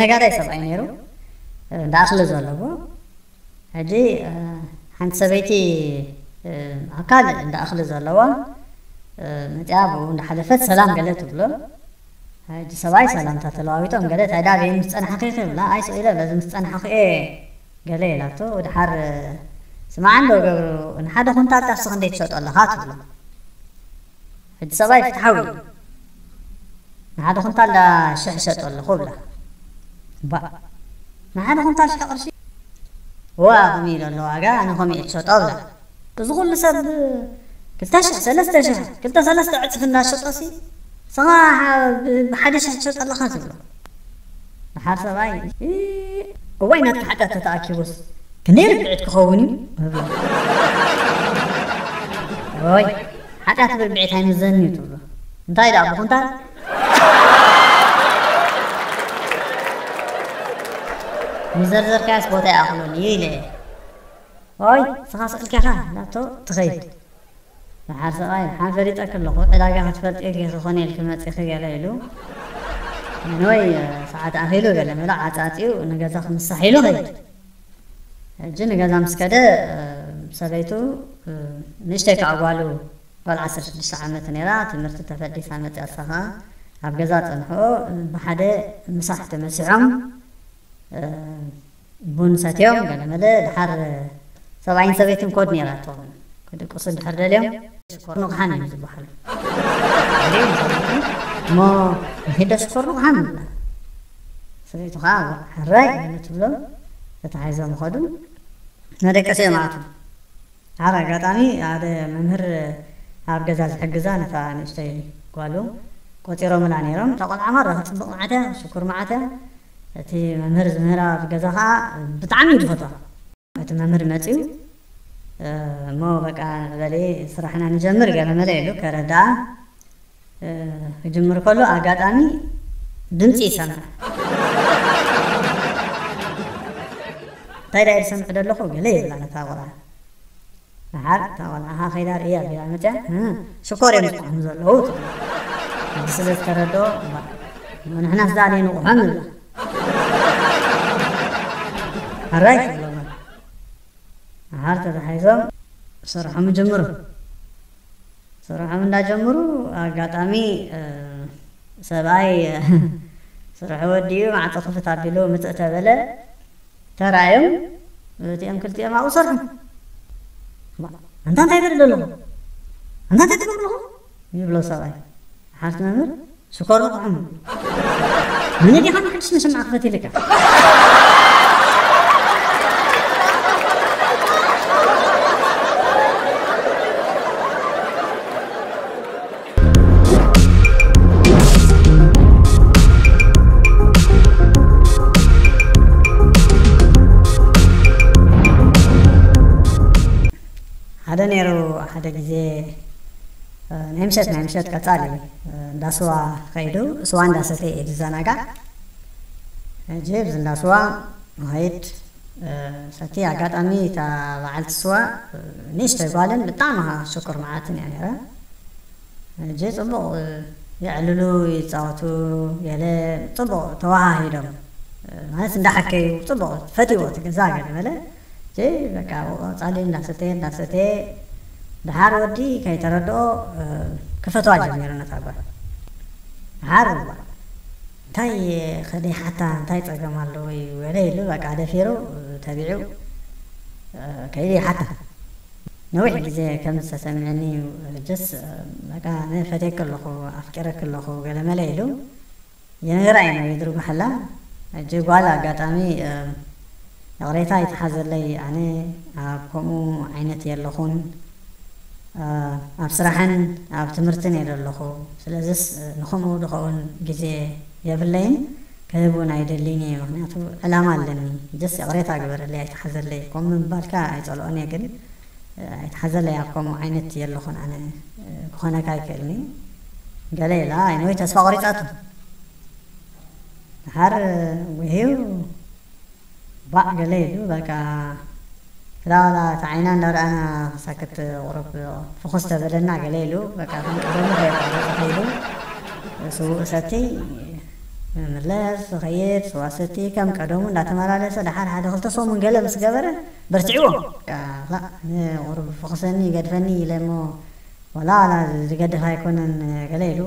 ነጋዳይ ሰብኣይ ነይሩ፣ እንዳ እኽሊ ዘለዎ። ሕጂ ሓንቲ ሰበይቲ ኣካል እንዳ እኽሊ ዘለዋ መፅያ ብኡ እንዳሓለፈት ሰላም ገለ ትብሎ። ሕጂ ሰብኣይ ሰላምታ ተለዋዊጦም ገለ፣ ታይ ዳብ ምስ ፀናሕኺ ክብላ፣ ኣይ ስቕ ኢለ በዚ ምስ ፀናሕኹ እየ ገለ ኢላቶ። ድሓር ስማዕ እንዶ ገብሩ፣ ንሓደ ኩንታል ጣፍሲ ክንደይ ትሸጦ ኣለኻ ትብሎ። ሕጂ ሰብኣይ ፍትሓዊ እዩ። ንሓደ ኩንታል ዳ ሽሕ ሸጦ ኣለኹ ብላ። ባ፣ ንሓደ ኩንታል ሽሕ ቅርሺ? ዋ፣ ከምኡ ኢሉ ኣሎ ዋጋ፣ ኣነ ከምኡ እየ ትሸጦ ብላ። እዚ ኩሉ ሰብ ክልተ ሽሕ፣ ሰለስተ ሽሕ፣ ክልተ ሰለስተ ዕፅፊ እንዳሸጦ ሲ፣ ንስኻ ብሓደ ሽሕ ትሸጦ ኣለኻ ትብሎ። ድሓር ሰብኣይ፣ እዋይ ናትካ ሓጢኣት ተተኣኪቡስ ክንደይ ርብዒት ክኸውን እዩ? እብሎ። ወይ ሓጢኣት ብርብዒት ኣይምዘን እዩ ትብሎ። እንታይ ደኣ ብኹንታል? ምዘርዘርካያስ ቦታ ይኣኽሎን እዩ ኢለ። ወይ ንስኻ ስቕልካ ኢኻ ናብቶ ትኸይድ። ደሓር ሰብኣይ፣ ደሓን ፈሊጠኪ ኣለኹ፣ ዕዳጋ ክትፈልጢ ጌኺ ኮነ ኢልኪ መጺኺ ገለ ኢሉ። ወይ ሰዓት ኣኺሉ ገለ መለ ዓጻጺኡ ንገዛ ክምሳሕ ኢሉ ኸይድ። ሕጂ ንገዛ ምስ ከደ፣ ሰበይቱ ንእሽተይ ከኣ ጓሉ ጓል ዓሰርተ ሽዱሽተ ዓመት ነይራ፣ ትምህርቲ ተፈዲሳ መጺኣ፣ እሳ ኸኣ ኣብ ገዛ ጸንሕኦ። ብሓደ ምሳሕ ተመሲሖም፣ ቡን ሰትዮም ገለ መለ። ድሓር ሰብኣይን ሰበይትን ኮድ ነይራቶም። ክድቅሱ ድሕር ደልዮም ሽኮር ንቑሓን እዮም ዝበሃሉ። እሞ ንኺዶ ሽኮር ንቑሓን ይብላ። ሰበይቱ ኸዓ ሕራይ ኢሉ ትብሎም። ተታሒዞም ኸዱ። መደቀሲ እዮም ኣቱ። ሓደ ኣጋጣሚ ሓደ መምህር ኣብ ገዛ ዝሕግዛ ነታ ንእሽተይ ጓሉ ቆጺሮምላ ነይሮም። እታ ቆልዓ ማራ ክትጽብቕ መዓት እያ፣ ሽኩር መዓት እያ። እቲ መምህር ዝምህራ ኣብ ገዛ ኸዓ ብጣዕሚ እዩ ዝፈትዋ። እቲ መምህር መጺኡ፣ "እሞ በቃ ንዕበሊ ስራሕና ንጀምር" ገለ መለ ኢሉ ከረድኣ፣ ክጅምር ከሎ ኣጋጣሚ ድምጺ ይሰምዕ። "እንታይ ዳ ዝሰምዕ ዘለኹ?" ገለ ይብላ ነታ ቆልዓ። ደሓር እታ ቆልዓ ኸዓ ከይዳ ርእያ ቢላ መፅያ፣ "እ፣ ሽኮር እዮም ዝጥዕሙ ዘለዉ" ትብል። ሕጂ ስለ ዝተረድኦ፣ "እባ፣ ንሕናስ ደኣ ዘይንቑሖም" ንብላ። "ሕራይ" ትብሎም። ደሓር ተታሒዞም ስርሖም ይጅምሩ። ስርሖም እንዳጀምሩ ኣጋጣሚ፣ እ፣ ሰብኣይ ስርሑ ወዲኡ ማዕጾ ክፍት ኣቢሉ ምጽእ ተበለ። ተራእዮም፣ እቲኦም ክልቲኦም ኣብኡ ሰርሑ። "ማ፣ ኣንታ እንታይ ትርኢ ኣለኹ? ኣንታ እንታይ ትገብሩ ኣለኹ?" ይብሎ ሰብኣይ። ሓፍቲ መምህር፣ "ሽኮር ንቑሖም። መን ዲኻ ንሓድሽ መሸማዕ ክፈት ኢልካ?" ሓደ ነይሩ ሓደ ግዜ፣ እ፣ ናይ ምሸት፣ ናይ ምሸት ቀጻሊ፣ እ፣ እንዳ ስዋ ከይዱ፣ ስዋ እንዳሰተየ እዩ ዝዘናጋዕ። ሕጂ ኣብዚ እንዳ ስዋ ንኸይድ፣ እ፣ ሰቲ ኣጋጣሚ እታ በዓልቲ ስዋ፣ እ፣ ንእሽተይ ጓልን ብጣዕሚ ኸዓ ሽኩር መዓትን እያ ነይራ። ሕጂ ጽቡቕ የዕልሉ፣ ይጻወቱ፣ ገለ ጽቡቕ ተወሃሂዶም፣ ማለት እንዳሓከዩ ጽቡቕ ፈትይዎ እቲ ገዛ ገለ በለ። ሕጂ በቃ ቀጻሊ እንዳሰተየ፣ እንዳሰተየ፣ ደሓር ወዲ ከይተረድኦ ክፈትዋ ጀሚሩ ነታ ጓል። ደሓር እዋ፣ እንታይ ከደይ ሓታ፣ እንታይ ጸገም ኣለዎ እዩ ገለ ኢሉ በቃ ደፊሩ ተቢዑ ከይዱ ይሓታ። ነዊሕ ግዜ ከም ዝተሰምዐኒ እዩ። ሕጅስ በቃ ኣነ ፈትየኪ ኣለኹ፣ ኣፍቂረኪ ኣለኹ ገለመለ ኢሉ ይነግራ እዩ ነዊት ርጉሓላ። ሕጂ ጓል ኣጋጣሚ፣ እ፣ ይቕሬታ ይትሓዘለይ፣ ኣነ ኣብ ከምኡ ዓይነት የለኹን፣ እ፣ ኣብ ስራሕን ኣብ ትምህርትን እየ ዘለኹ። ስለዚስ፣ እ፣ ንኸምኡ ዝኸውን ግዜ የብለይን፣ ክህብ እውን ኣይደልይን እየ፣ ምኽንያቱ ዕላማ ኣለኒ። ሕጅስ ይቕሬታ ግበረለይ፣ ኣይትሓዘለይ። ከምኡ ምባልካ ኣይጸልኦን እየ፣ ግን ኣይትሓዘለይ፣ ኣብ ከምኡ ዓይነት የለኹን ኣነ፣ ክኾነካ ኣይክእልኒ ገለ ኢላ፣ ኣይነወይ ተስፋ ቆሪጻቶ። ደሓር ውሂው ባዕ ገለ ኢሉ፣ በቃ፣ ክላ ዋላ እቲ ዓይና እንዳረኣና ክሳክት ቁሩብ ፍኹስ ተበለና ገለ ኢሉ፣ በቃ፣ ከም ቀደሙ ከየቋረጸ ከይዱ፣ ስዉእ ሰቲ ምለስ፣ ኸይድ፣ ስዋ ሰቲ፣ ከም ቀደሙ እንዳተመላለሰ፣ ደሓር ሓደ ክልተ ሰሙን ገለ ምስ ገበረ፣ በርትዕዎ። በቃ፣ ላ፣ ንቑሩብ ፍኹሰኒ፣ ይገድፈኒ ኢለ እሞ፣ ወላ፣ ወላ ዝገድፍ ኣይኮነን፣ ገለ ኢሉ።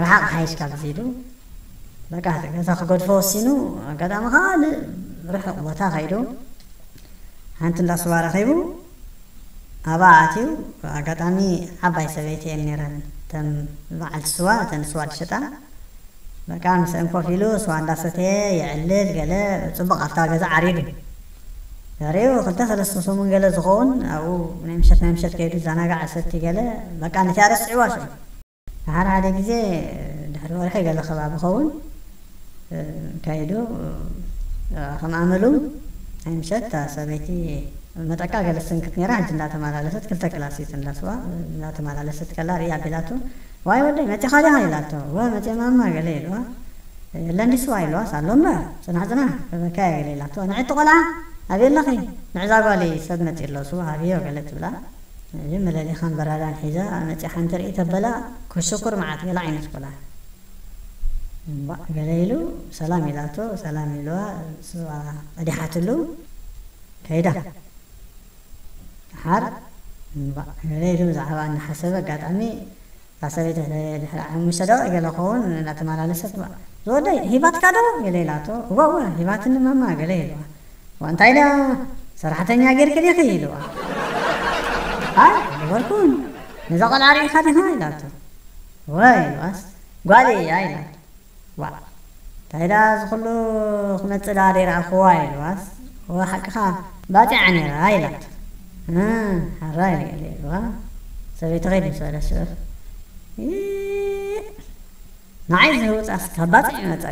ርሓቕ ሓይሽ ካብዚ ኢሉ። በቃ፣ እቲ ገዛ ክገድፎ ወሲኑ፣ ኣጋጣሚ ካልእ ርሑቕ ቦታ ከይዱ፣ ሓንቲ እንዳ ስዋ ረኺቡ፣ ኣብኣ ኣትዩ፣ ኣጋጣሚ ዓባይ ሰበይቲ እየን ነይረን፣ እተን በዓልቲ ስዋ፣ እተን ስዋ ዝሸጣ። በቃ፣ ምስአን ኮፍ ኢሉ፣ ስዋ እንዳሰተየ፣ የዕልል፣ ገለ፣ ጽቡቕ ኣብታ ገዛ ዓሪዱ። ድሕሪኡ፣ ክልተ ሰለስተ ሰሙን ገለ ዝኸውን፣ ኣብኡ ናይ ምሸት፣ ናይ ምሸት ከይዱ፣ ዘናጋዕ ሰቲ ገለ፣ በቃ፣ ነቲኣ ረስዕዋ ሽዑ። ሓደ ሓደ ግዜ ድሕሪ ወርሒ ገለ ከባቢ ኸውን፣ እ፣ ከይዱ፣ እ፣ ከም ኣመሉ ናይ ምሸት እታ ሰበይቲ መጠቃ ገለ ትስንክት ነይራ። ሕጂ እንዳተመላለሰት ክልተ ክላስ እዩ እንዳስዋ እንዳተመላለሰት ከላ ርእያ ኣቢላቶ፣ "ዋይ ወደይ መጺኻ ዲኻ?" ኢላቶ። "ወ መጺአ ማማ" ገለ ኢልዋ። "የለን ድዩ ስዋ?" ኢልዋስ፣ "ኣሎ እምበር፣ ጽናሕ ጽናሕ፣ ክህበካ እየ" ገለ ኢላቶ። "ንዕቲ ቆልዓ ኣበይ ኣለኺ?" "ንዕዛ ጓለይ ሰብ መጺኡ ኣሎ፣ ስዋ ሃብዮ" ገለ ትብላ። እዚ መለሊኻን በራዳን ሒዛ መጺኣ ሓንቲ ርኢ ተበላ፣ ክሽኩር መዓት ገለ ዓይነት ቆልዓ። እምባእ ገለ ኢሉ ሰላም ኢላቶ፣ ሰላም ኢልዋ፣ ስዋ ቀዲሓትሉ ከይዳ። ደሓር እምባእ ገለ ኢሉ ብዛዕባ እናሓሰበ፣ ኣጋጣሚ እታ ሰበይቲ ድሕሪ ሓሙሽተ ደቂቕ ገለ ክኸውን እናተመላለሰት፣ "ዝወደይ ሂባትካ ዶ?" ገለ ኢላቶ። "እወ፣ እወ፣ ሂባትኒ ማማ" ገለ ኢልዋ። "እዋ፣ እንታይ ኢላ ሰራሕተኛ ጌርኪ ዲኺ?" ኢልዋ። "ኣይ፣ ኣይገበርኩን። ነዛ ቆልዓ ርኢኻ ዲኻ?" ኢላቶ። "እወ" ኢልዋስ፣ "ጓለይ እያ" ኢላቶ። "ዋ፣ እንታይ ደኣ እዚ ኩሉ ክመጽእ ደኣ ደይረኣኽዋ?" ኢልዋስ፣ "እወ፣ ሓቅኻ፣ ባጺዓ ነይራ" ኢላቶ። "እ፣ ሓራይ" ኢልዋ። ሰበይቲ ከይዱ ምስ በለ ሽዑ፣ "እ፣ ንዓይ ዝህውጻስ ካብ ባጽዕ ይመጸ"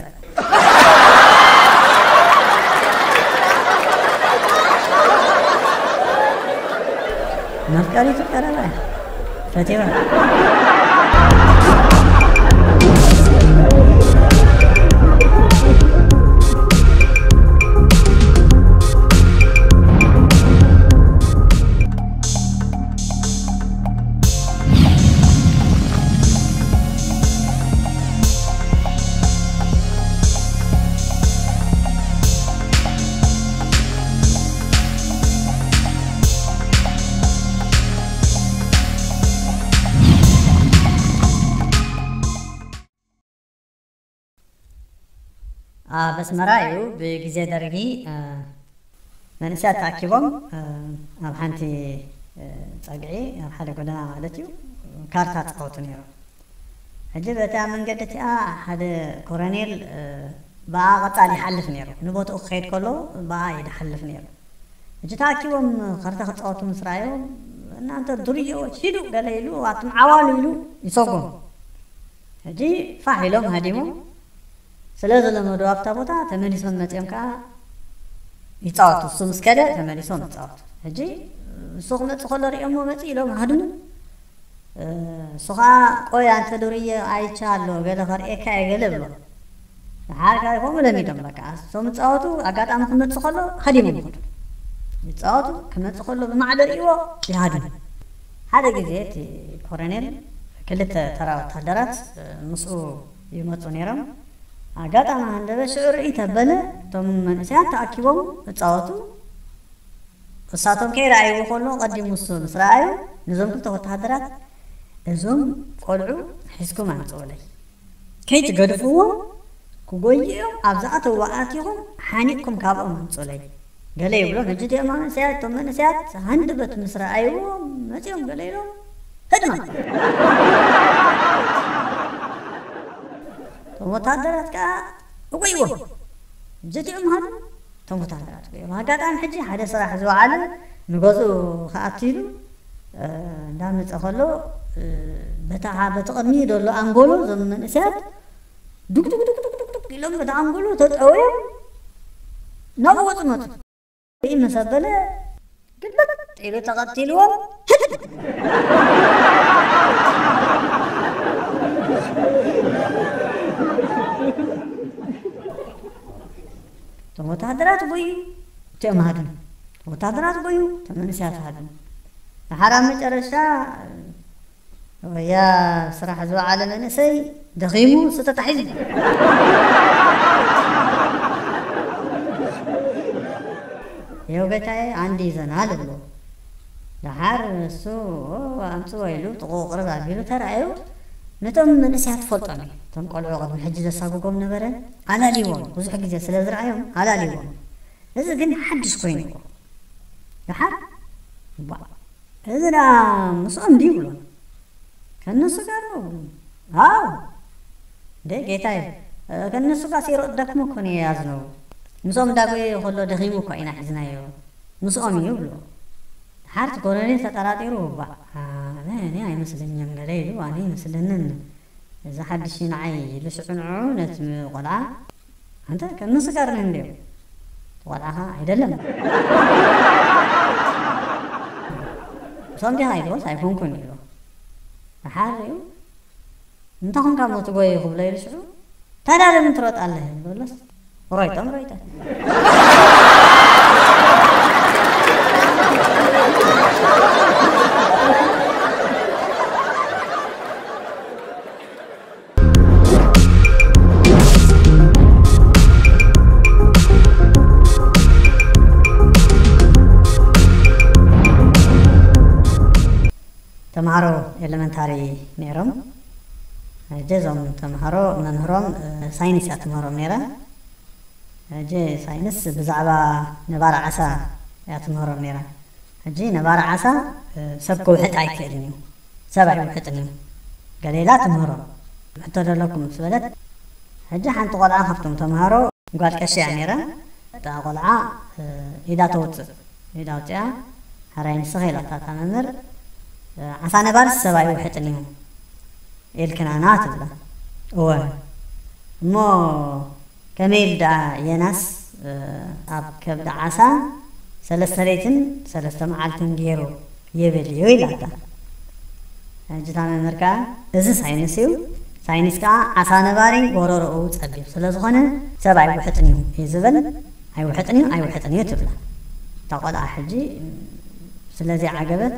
መፍቀሪቱ ቀረባ እያ። ፈቲዋ። ኣብ ኣስመራ እዩ ብግዜ ደርጊ፣ እ፣ መንእሰያት ተኣኪቦም፣ እ፣ ኣብ ሓንቲ፣ እ፣ ጸግዒ፣ ኣብ ሓደ ጎደና ማለት እዩ፣ ካርታ ጻወቱ ነይሮም። ሕጂ በታ መንገዲ እቲኣ ሓደ ኮረኔል፣ እ፣ ብኣ ቀጻሊ ይሓልፍ ነይሩ። ንቦትኡ ክኸይድ ከሎ ብኣ እዩ ዝሓልፍ ነይሩ። ሕጂ ተኣኪቦም ካርታ ክጻወቱ ምስ ረኣዮም፣ "እናንተ ዱርዬዎች ሂዱ" ገለ ኢሉ፣ ኣቱም ዓዋሉ ኢሉ ይሰጎም። ሕጂ ፋሕ ኢሎም ሃዲሞም ስለ ዝለመዱ ኣብታ ቦታ ተመሊሶም መጺኦም ከኣ ይጻወቱ። እሱ ምስ ከደ ተመሊሶም ይጻወቱ። ሕጂ እሱ ክመጽእ ከሎ ሪኦሞ መጺእ ኢሎም ሃድሙ። እ፣ እሱ ኸኣ፣ "ቆይ ኣንተ ዱርዬ ኣይቼ ኣሎ፣ ገለ ከርእየካ እየ" ገለ ብሎ። ደሓር ከኣ ከምኡ ለሚዶም በቃ። እሶም ይጻወቱ፣ ኣጋጣሚ ክመጽእ ከሎ ሃዲሞም ይኸዱ። ይጻወቱ፣ ክመጽእ ከሎ ብማዕዶ ርእይዎ ይሃድሙ። ሓደ ግዜ እቲ ኮረኔል ክልተ ተራ ወታደራት፣ እ፣ ምስኡ ይመጹ ነይሮም። ኣጋጣሚ ሃንደበት ሽዑ ርእይ ተበለ፣ እቶም መንእሰያት ተኣኪቦም ይጻወቱ። እሳቶም ከይረኣይዎ ከሎ ቀዲሙ እሱ ምስ ረኣዩ፣ ነዞም ክልተ ወተሃደራት፣ "እዞም ቆልዑ ሒዝኩም ኣምጽኡለይ። ከይትገድፍዎም፣ ክጎዩ እዮም፣ ኣብ ዝኣተውዎ ኣቲኹም ሓኒቕኩም ካብኦም ኣምጹኡለይ" ገለ ይብሎም። ሕጂ እቲኦም መንእሰያት፣ እቶም መንእሰያት ሃንደበት ምስ ረኣይዎ መጺኦም ገለ ኢሎም፣ "ህድማ!" እቶም ወተሃደራት ከኣ እጎይዎም። ሕጂ እቲኦም ሃድሙ፣ እቶም ወተሃደራት እጎይዎም። ኣጋጣሚ ሕጂ ሓደ ስራሕ ዝወዓለ ንገዝኡ ክኣቱ ኢሉ፣ እ፣ እንዳመጸ ከሎ፣ እ፣ በታ፣ በቲ ቅድሚኡ ዘሎ ኣንጎሎ እዞም መንእሰያት ዱግ ዱግ ዱግ ዱግ ዱግ ኢሎም በቲ ኣንጎሎ ተጠውዮም ናብኡ ወጹ መጹ። ምስ ኣበለ ግልብጥ ኢሉ ተቐቲልዎም። እቶም ወተሃደራት ጎዩ፣ እቲኦም ሃድሙ። ወተሃደራት ጎዩ፣ እቶም መንእሰያት ሃድሙ። ደሓር ኣብ መጨረሻ ወያ ስራሕ ዝወዓለ መንእሰይ ደኺሙ እሱ ተታሒዙ። የው ጌታዬ፣ አንድ ይዘናል ብሎ። ደሓር እሱ ኣምፅዎ ኢሉ ጥቑ ቅርብ ኣቢሉ ተራእዩ። ነቶም መንእሰያት ትፈልጦም እዩ። እቶም ቆልዑ ቅድሚ ሕጂ ዘሳጉጎም ነበረ፣ ኣላልይዎም። ብዙሕ ግዜ ስለ ዝረኣዮም ኣላልይዎም። እዚ ግን ሓድሽ ኮይንዎ። ደሓር ባ፣ እዚ ደኣ ምስኦም ድዩ ብሎ። ከነሱ ጋር ነው ብሎ። አዎ። እንዴ ጌታዬ፣ ከነሱ ጋር ሲሮጥ ደክሞ እኮ ነው የያዝነው። ምስኦም እንዳጎየ ከሎ ደኺሙ እኮ ኢና ሒዝናዮ። ምስኦም እዩ ብሎ። ሓርቲ ኮሎኔል ተጠራጢሩ፣ ባ፣ ኣነ፣ እኔ አይመስለኝም ገለ ኢሉ፣ ኣነ ይመስለንን። እዚ ሓድሽ ንዓይ ኢሉ ሽዑ ንዑ ነቲ ቆልዓ፣ ኣንተ ከነሱ ጋር ነህ እንዴ? ቆልዓ ኸዓ፣ አይደለም። ምስኦም ዲኻ ኢልዎስ፣ ኣይኮንኩን ኢሉ። ደሓር እዩ። እንተ ኾንካ እሞ ትጎይ ክብሎ ኢሉ ሽዑ፣ ታዲያ ለምን ትሮጣለህ? በሎስ፣ ሮይጦም ሮይጦም። ተምሃሮ ኤለመንታሪ ነይሮም። ሕጂ እዞም ተምሃሮ መምህሮም፣ እ፣ ሳይንስ እያ ትምህሮም ነይራ። ሕጂ ሳይንስ ብዛዕባ ነባሪ ዓሳ እያ ትምህሮም ነይራ። ሕጂ ነባሪ ዓሳ፣ እ፣ ሰብ ክውሕጥ ኣይክእልን እዩ፣ ሰብ ኣይውሕጥን እዩ። ገለ ኢላ ትምህሮም። ሕቶ ደለኩም ምስ በለት፣ ሕጂ ሓንቲ ቆልዓ ካብቶም ተምሃሮ ጓል ቀሺ እያ ነይራ። እታ ቆልዓ፣ እ፣ ኢዳ ተውፅእ። ኢዳ ኣውፂኣ፣ ሕራይ ንስኺ ኢላታ እታ መምህር፣ እ፣ ዓሳ ነባርስ ሰብ ኣይውሕጥን እዩ ኢልክናና ትብላ። እወ። እሞ ከመይ ኢሉ ደኣ ዮናስ፣ እ፣ ኣብ ከብዲ ዓሳ ሰለስተ ለይትን ሰለስተ መዓልትን ገይሩ ይብል እዩ ኢላታ። ሕጂ እታ መምህር ከኣ፣ እዚ ሳይንስ እዩ። ሳይንስ ከኣ ዓሳ ነባሪ ጎረሮኡ ጸቢብ ስለ ዝኾነ ሰብ ኣይውሕጥን እዩ እዩ ዝብል። ኣይውሕጥን እዩ፣ ኣይውሕጥን እዩ ትብላ። እታ ቆልዓ ሕጂ ስለዚ ዓገበት።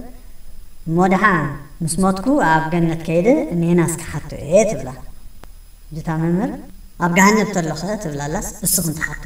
እሞ ደሓን ምስ ሞትኩ ኣብ ገነት ከይደ ንዮናስ ክሓቶ እየ ትብላ። እታ መምህር፣ ኣብ ገሃነብ ተሎኸ ትብላላስ እስኽን ትሓቶ።